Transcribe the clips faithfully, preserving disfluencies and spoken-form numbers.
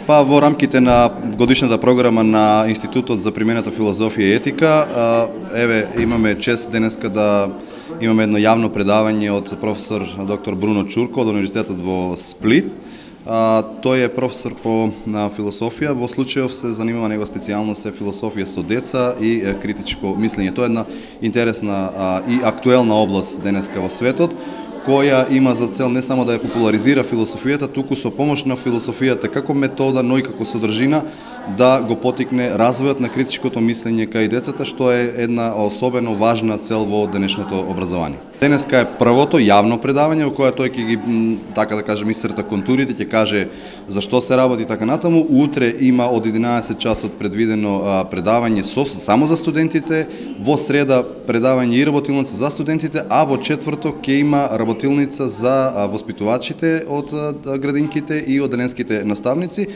Па во рамките на годишната програма на Институтот за примената филозофија и етика, еве имаме чест денеска да имаме едно јавно предавање од професор доктор Бруно Чурко од Универзитетот во Сплит. Тој е професор по на философија, во случајов се занимава негова специјалност е философија со деца и критичко мислење. Тоа е една интересна и актуелна област денеска во светот, која има за цел не само да ја популаризира философијата, туку со помош на философијата како метода, но и како содржина да го потикне развојот на критичкото мислење кај децата, што е една особено важна цел во денешното образование. Денеска е првото јавно предавање во кое тој ќе ги, така да кажем, исцрта контурите, ќе каже зашто се работи така натаму. Утре има од единаесет часот предвидено предавање со само за студентите, во среда предавање и работилница за студентите, а во четврток ќе има работилница за воспитувачите од градинките и одделенските наставници,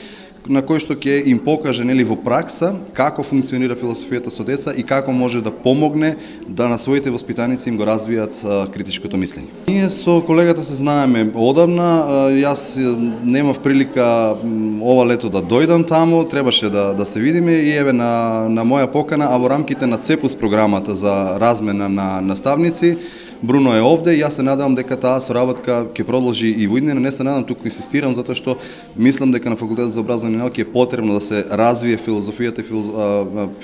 на кој што ќе им покаже нели во пракса како функционира философијата со деца и како може да помогне да на своите воспитаници им го развијат а, критичкото мислење. Ние со колегата се знаеме одамна, а, јас немав прилика ова лето да дојдам таму, требаше да да се видиме и еве на на моја покана, а во рамките на ЦЕПУС програмата за размена на наставници, Бруно е овде и јас се надевам дека таа соработка ќе продолжи и во иднина. Не се надам, туку инсистирам затоа што мислам дека на факултетот за образовни науки е потребно да се развие филозофијата и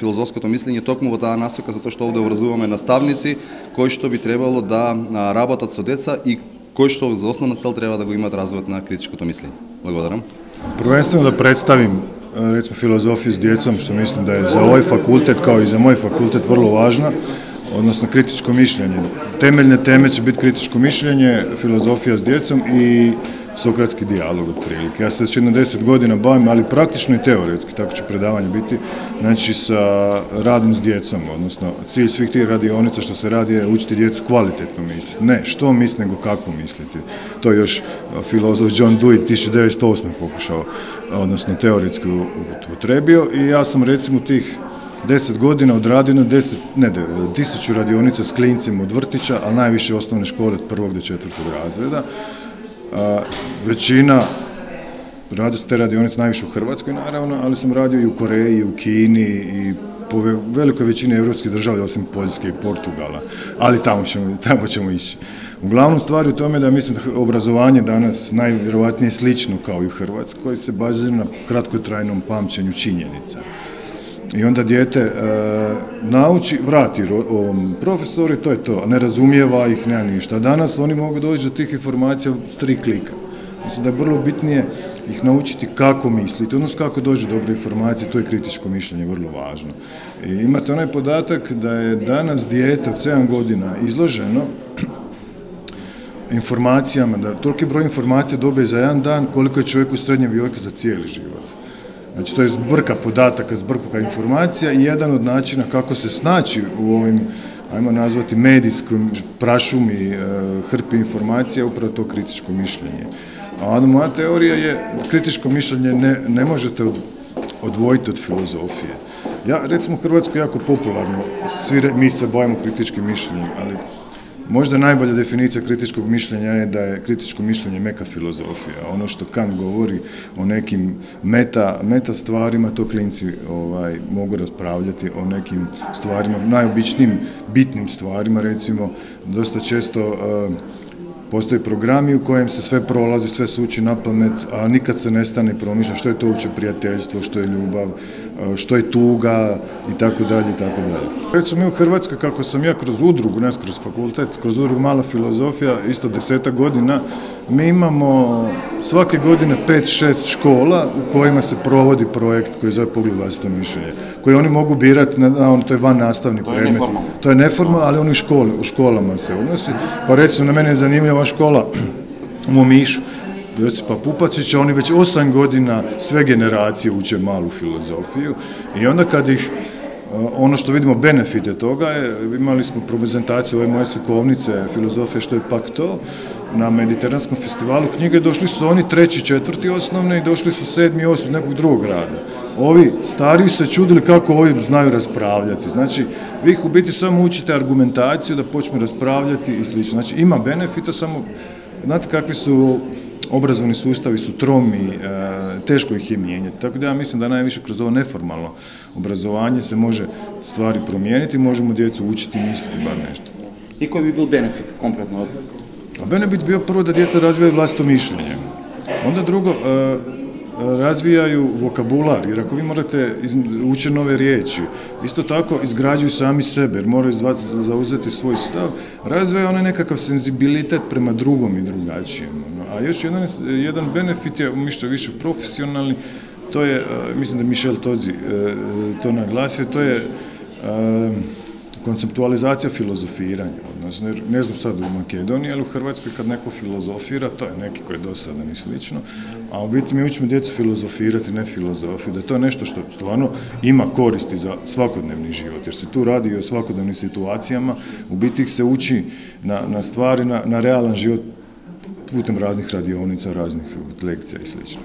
филозофското мислење токму во таа насока, затоа што овде образуваме наставници кои што би требало да работат со деца и кои што за основна цел треба да го имаат развојот на критичкото мислење. Благодарам. Првенствено да представим рецимо филозофија с децом, што мислам да е за овој факултет као и за мој факултет врло важна, односно критичко мишљење. Темелне теме ќе биде критичко мишљење, филозофија с децом и сократски дијалог отприлike. Јас се веќе на десет година бавим, али практично и теоретски, така ќе предавање бити, значи са радом с децом, односно cilj svih tih radionica što se radi je učiti djecu kvalitetno misliti. Ne što misli, nego kako misliti. To je još filozof John Dewey tisuću devetsto osme pokušao, odnosno teoretski upotrebio i ja sam recimo tih deset godina odradio na deset, ne, tisuću radionica s klincima od vrtića, ali najviše osnovne škole od prvog do četvrtog razreda. A, većina, radio se te radionice najviše u Hrvatskoj naravno, ali sam radio i u Koreji, i u Kini, i po velikoj većini evropskih država, osim Poljske i Portugala, ali tamo ćemo, tamo ćemo ići. Uglavnom stvar je u tome da mislim da obrazovanje danas najvjerovatnije slično kao i u Hrvatskoj se bazira na kratkotrajnom pamćenju činjenica. I onda dijete e, nauči, vrati ovom profesoru i to je to, ne razumijeva ih, nema ništa. Danas oni mogu doći do tih informacija s tri klika. Mislim da je vrlo bitnije ih naučiti kako misliti, odnosno kako dođe do dobre informacije, to je kritičko mišljenje vrlo važno. I imate onaj podatak da je danas dijete od sedam godina izloženo informacijama, da toliki broj informacija dobije za jedan dan koliko je čovjek u srednjem vijeku za cijeli život. Znači, to je zbrka podataka, zbrka informacija i jedan od načina kako se snaći u ovim, ajmo nazvati, medijskom prašumi, hrpi informacija, upravo to kritičko mišljenje. A onda moja teorija je, kritičko mišljenje ne, ne možete odvojiti od filozofije. Ja, recimo, u Hrvatskoj jako popularno, svi mi se bavimo kritičkim mišljenjem, ali možda najbolja definicija kritičkog mišljenja je da je kritičko mišljenje meka filozofija. Ono što Kant govori o nekim meta, meta stvarima, to klinci ovaj, mogu raspravljati o nekim stvarima, najobičnijim bitnim stvarima, recimo, dosta često uh, postoje programi u kojem se sve prolazi, sve se uči na pamet, a nikad se ne stane i promišlja što je to uopće prijateljstvo, što je ljubav, što je tuga i tako dalje i tako dalje. Recimo mi u Hrvatskoj, kako sam ja kroz udrugu, ne kroz fakultet, kroz udrugu Mala filozofija, isto desetak godina, mi imamo svake godine pet šest škola u kojima se provodi projekt koji zove Pogled vlastito mišljenje, koji oni mogu birati, na, to je van nastavni predmet. To je neformalno, ali oni u, škole, u školama se odnosi. Pa recimo, na mene je zanimljiva škola u Momišu, Josipa Pupačića, oni već osam godina sve generacije uče malu filozofiju i onda kad ih, ono što vidimo benefite toga je, imali smo prezentaciju ove moje slikovnice filozofije što je pak to, na Mediteranskom festivalu knjige, došli su oni treći, četvrti osnovne i došli su sedmi, osmi nekog drugog grada. Ovi stariji se čudili kako ovi znaju raspravljati. Znači, vi ih u biti samo učite argumentaciju da počnu raspravljati i slično. Znači, ima benefita, samo, znate kakvi su obrazovni sustavi su tromi, teško ih je mijenjati. Tako da ja mislim da najviše kroz ovo neformalno obrazovanje se može stvari promijeniti, možemo djecu učiti misliti bar nešto. I koji bi bil benefit kompletno od? A benefit bio prvo da djeca razvijaju vlastito mišljenje. Onda drugo, razvijaju vokabular, jer ako vi morate učiti nove riječi, isto tako izgrađuju sami sebe, jer moraju zauzeti svoj stav, razvijaju onaj nekakav senzibilitet prema drugom i drugačijem. A još jedan, jedan benefit je umišljeno više profesionalni, to je, mislim da Michel Todzi to naglasio, to je konceptualizacija filozofiranja, odnosno, ne znam sad u Makedoniji, ali u Hrvatskoj kad neko filozofira, to je neki koji je dosadan i slično, a u biti mi učimo djecu filozofirati, ne filozofiju, da je to nešto što stvarno ima koristi za svakodnevni život, jer se tu radi i o svakodnevnim situacijama, u biti ih se uči na, na stvari, na, na realan život putem raznih radionica, raznih lekcija i slično.